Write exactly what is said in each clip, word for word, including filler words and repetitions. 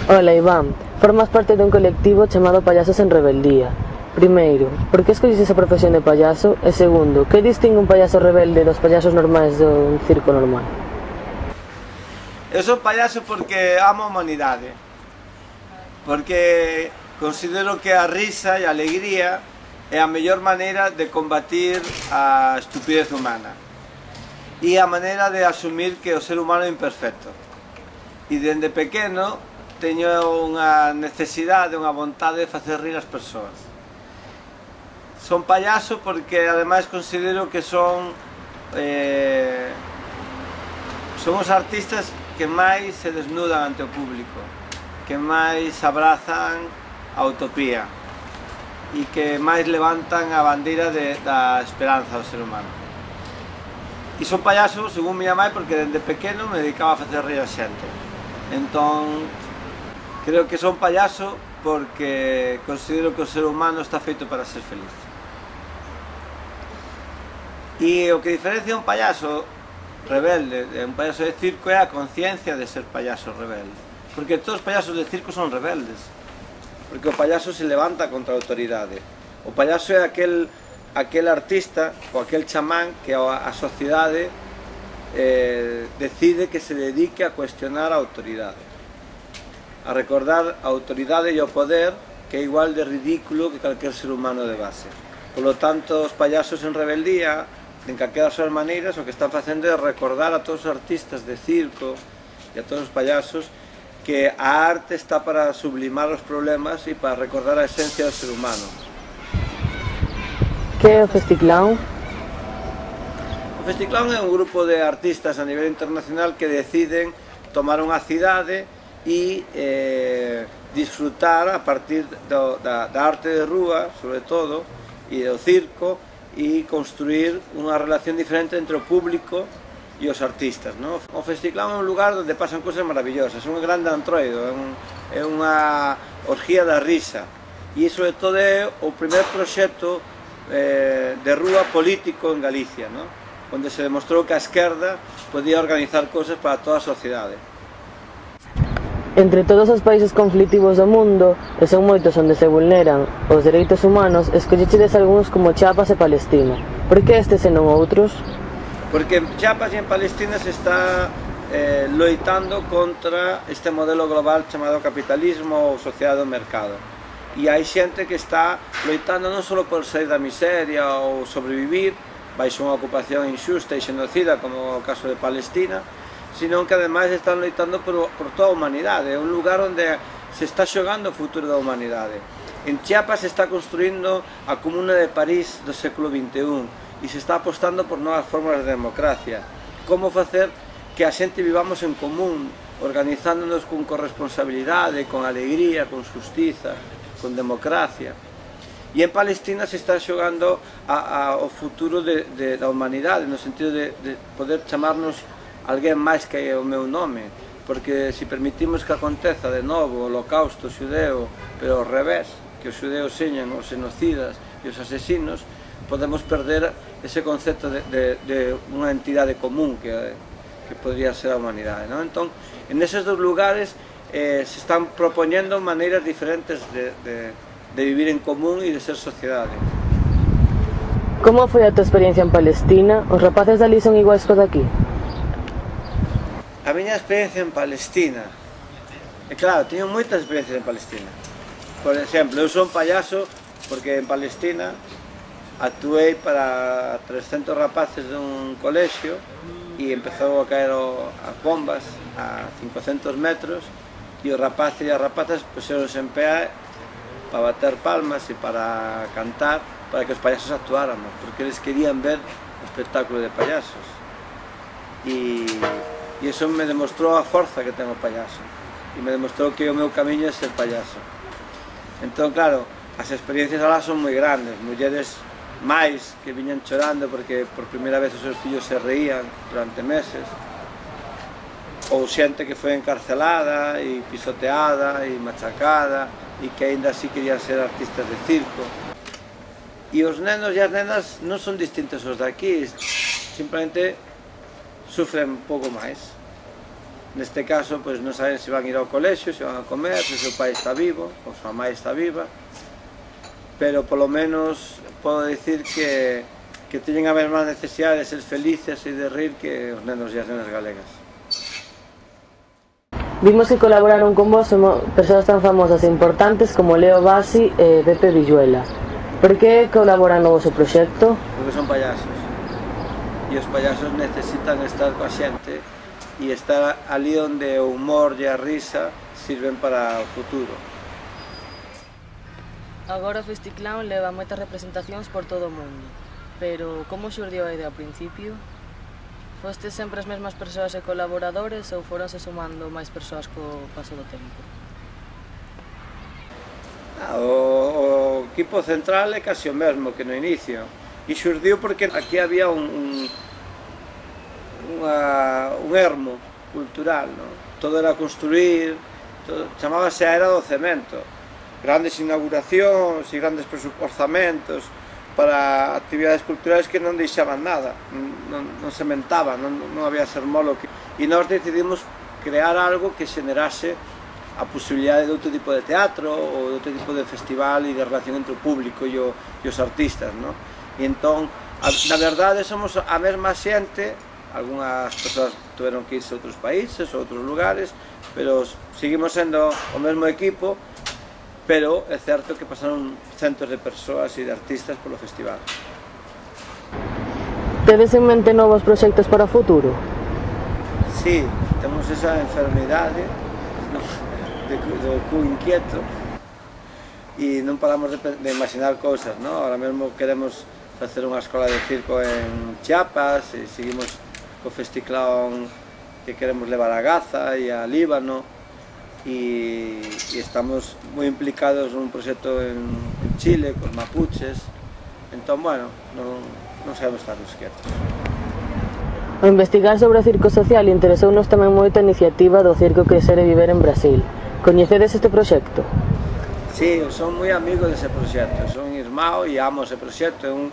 Ola, Iván, formas parte dun colectivo chamado Payasos en Rebeldía. Primeiro, por que escolles esa profesión de payaso? E segundo, que distingue un payaso rebelde dos payasos normais dun circo normal? Eu son payaso porque amo a humanidade, porque considero que a risa e a alegría é a mellor maneira de combatir a estupidez humana e a maneira de asumir que o ser humano é imperfecto. E dende pequeno teño unha necesidade, unha vontade de facer rir as persoas. Son payaso porque ademais considero que son eh, son os artistas que máis se desnudan ante o público, que máis abrazan a utopía e que máis levantan a bandeira de, da esperanza ao ser humano. E son payaso, según miña mãe, porque dende pequeno me dedicaba a facer rir a xente. Entón, creo que son payaso porque considero que o ser humano está feito para ser feliz. E o que diferencia un payaso rebelde de un payaso de circo é a conciencia de ser payaso rebelde. Porque todos os payasos de circo son rebeldes. Porque o payaso se levanta contra a autoridade. O payaso é aquel, aquel artista ou aquel chamán que a, a sociedade eh, decide que se dedique a cuestionar a autoridade, a recordar a autoridade e o poder, que é igual de ridículo que calquer ser humano de base. Por lo tanto, os payasos en rebeldía, en calquera das súas maneiras, o que están facendo é recordar a todos os artistas de circo e a todos os payasos que a arte está para sublimar os problemas e para recordar a esencia do ser humano. Que é o Festiclown? O Festiclown é un grupo de artistas a nivel internacional que deciden tomar unha cidade e eh, disfrutar a partir do, da, da arte de rúa, sobre todo, e do circo, e construir unha relación diferente entre o público e os artistas, no? O Festiclown é un lugar onde pasan cousas maravillosas, é un grande antroido, é, un, é unha orgía da risa, e sobre todo é o primer proxecto eh, de rúa político en Galicia, no? Onde se demostrou que a esquerda podía organizar cousas para toda a sociedade. Entre todos os países conflitivos do mundo, e son moitos onde se vulneran os dereitos humanos, escollechedes algúns como Chiapas e Palestina. Por que estes e non outros? Porque en Chiapas e en Palestina se está eh, loitando contra este modelo global chamado capitalismo ou sociedade do mercado. E hai xente que está loitando non só por sair da miseria ou sobrevivir baixo unha ocupación injusta e xenocida como o caso de Palestina, sino que ademais están loitando por, por toda a humanidade. É un lugar onde se está xogando o futuro da humanidade. En Chiapas se está construindo a Comuna de París do século vinte e un e se está apostando por novas formas de democracia. Como facer que a xente vivamos en común, organizándonos con corresponsabilidade, con alegría, con xustiza, con democracia. E en Palestina se está xogando a, a, o futuro de, de, da humanidade, no sentido de, de poder chamarnos alguén máis que o meu nome, porque se permitimos que aconteza de novo o holocausto xudeo, pero ao revés, que os xudeos señan os xenocidas e os asesinos, podemos perder ese concepto de, de, de unha entidade común que, que podría ser a humanidade, non? Entón, en eses dos lugares eh, se están propoñendo maneiras diferentes de, de, de vivir en común e de ser sociedade. Como foi a tua experiencia en Palestina? Os rapaces dali son iguais co daqui? A miña experiencia en Palestina, e claro, teño moitas experiencias en Palestina. Por exemplo, eu son payaso porque en Palestina actuei para trescentos rapaces dun colexio e empezou a caer o, as bombas a cincocentos metros e os rapaces e as rapazas puseronse en pé para bater palmas e para cantar para que os payasos actuáramos, porque eles querían ver o espectáculo de payasos. E E iso me demostrou a forza que ten o payaso. E me demostrou que o meu camiño é ser payaso. Entón, claro, as experiencias alá son moi grandes. Mulleres máis que viñan chorando porque por primeira vez os seus fillos se reían durante meses. Ou xente que foi encarcelada e pisoteada e machacada e que aínda así querían ser artistas de circo. E os nenos e as nenas non son distintos aos daqui, simplemente sufren un pouco máis. neste caso pois non saben se van a ir ao colexio, se van a comer, se o seu pai está vivo, ou a súa mãe está viva, pero polo menos podo dicir que, que teñen a mesma necesidade de ser felices e de rir que os nenos e as nenas galegas. Vimos que colaboraron con vos persoas tan famosas e importantes como Leo Bassi e Pepe Villuela. Por que colaboran no vosso proxecto? Porque son payasos. E os payasos necesitan estar coa xente e estar ali onde o humor e a risa sirven para o futuro. Agora o Festiclown leva moitas representacións por todo o mundo, pero como xurdiu a idea ao principio? Fostes sempre as mesmas persoas e colaboradores ou foronse sumando máis persoas co paso do tempo? O, o equipo central é casi o mesmo que no inicio e xurdiu porque aquí había un, un, unha, un ermo cultural, ¿no? Todo era construir, todo, chamábase a era do cemento, grandes inauguracións e grandes orzamentos para actividades culturales que non deixaban nada, non, non sementaban, non, non había sermolo que... e nós decidimos crear algo que xenerase a posibilidade de outro tipo de teatro ou de outro tipo de festival e de relación entre o público e, o, e os artistas, no? E entón, a, na verdade, somos a mesma xente, algunhas persoas tuveron que irse a outros países ou outros lugares, pero seguimos sendo o mesmo equipo, pero é certo que pasaron centos de persoas e de artistas polo festival. Tedes en mente novos proxectos para o futuro? Sí, temos esa enfermidade, no, de, do cu inquieto e non paramos de, de imaginar cousas, ¿no? Ahora mesmo queremos facer unha escola de circo en Chiapas e seguimos co Festiclown que queremos levar a Gaza e a Líbano e, e estamos moi implicados nun proxecto en, en Chile, cos mapuches, entón, bueno, non, non sabemos estar quietos. Ao investigar sobre o circo social interesounos tamén moito a iniciativa do Circo Crecer e Viver en Brasil. Coñecedes este proxecto? Sí, son moi amigo dese proxecto, son irmão e amo ese proxecto, é un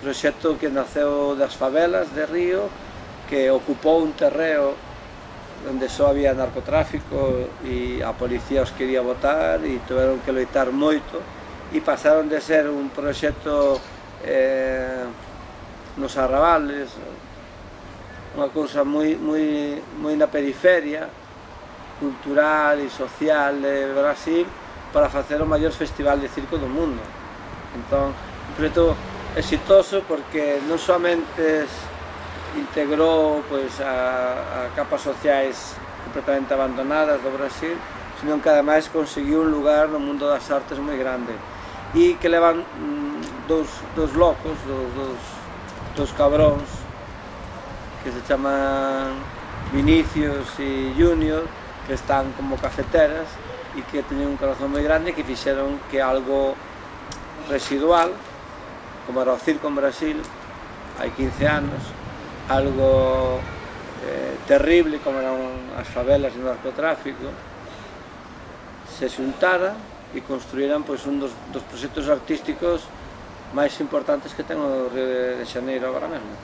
proxecto que naceu das favelas de Río, que ocupou un terreo onde só había narcotráfico e a policía os quería botar e tiveron que loitar moito e pasaron de ser un proxecto eh, nos arrabales, unha cousa moi, moi, moi na periferia cultural e social de Brasil para facer o maior festival de circo do mundo. Entón, un proxecto exitoso porque non somente integrou pois, a, a capas sociais completamente abandonadas do Brasil, sino que ademais conseguiu un lugar no mundo das artes moi grande e que levan mm, dos, dos locos, dos, dos, dos cabróns que se chaman Vinicius e Junior, que están como cafeteras e que teñen un corazón moi grande que fixeron que algo residual, como era o circo en Brasil hai quince anos, algo eh, terrible como eran as favelas e o narcotráfico, se xuntara e construíran pois, un dos, dos proxectos artísticos máis importantes que ten o Río de Xaneiro agora mesmo.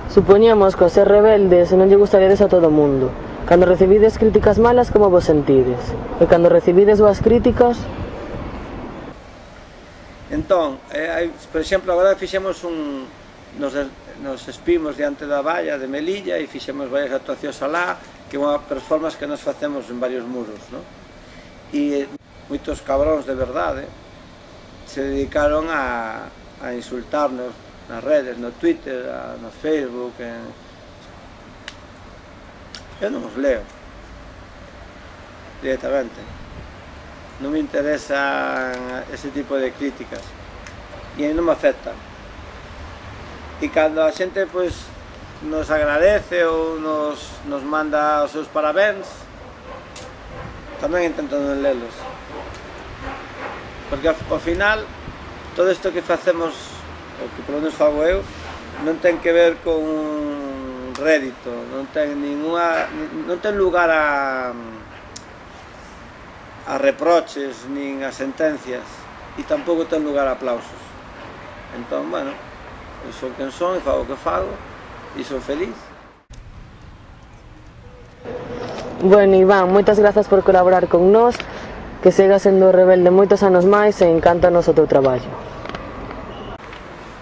Supoñamos que ao ser rebeldes non lle gustaríades a todo o mundo. Cando recibides críticas malas, como vos sentides? E cando recibides boas críticas? Entón, eh, por exemplo, agora fixemos un... Nos, nos espimos diante da valla de Melilla e fixemos varias actuacións alá, que é unha performance que nos facemos en varios muros, no? E moitos cabróns de verdade se dedicaron a, a insultarnos nas redes, no Twitter, a, no Facebook. En... Eu non os leo directamente, non me interesan ese tipo de críticas e non me afectan. E cando a xente pois, nos agradece ou nos, nos manda os seus parabéns, tamén intento non lelos, porque ao final todo isto que facemos, o que polo menos fago eu, non ten que ver con rédito, non ten ninguna, non ten lugar a a reproches nin a sentencias e tampouco ten lugar a aplausos. Entón, bueno, eu son quen son e fago o que fago e son feliz. Bueno, Iván, moitas grazas por colaborar con nós, que siga sendo rebelde moitos anos máis e encántanos o teu traballo.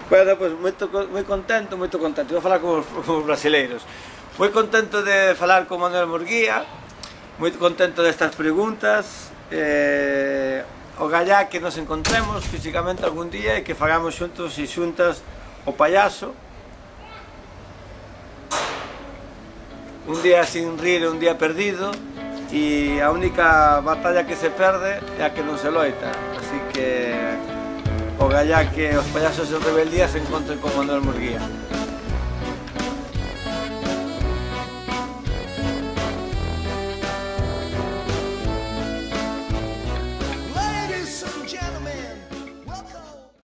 Bueno, pois pues, moi contento, moito contento, vou falar como, como os brasileiros. Moi contento de falar con Manuel Murguía, moi contento destas preguntas, eh, o gallá que nos encontremos físicamente algún día e que fagamos xuntos e xuntas o payaso. Un día sin rir é un día perdido e a única batalla que se perde é a que non se loita, así que o gallá que os payasos de rebeldía se encontren con Manuel Murguía.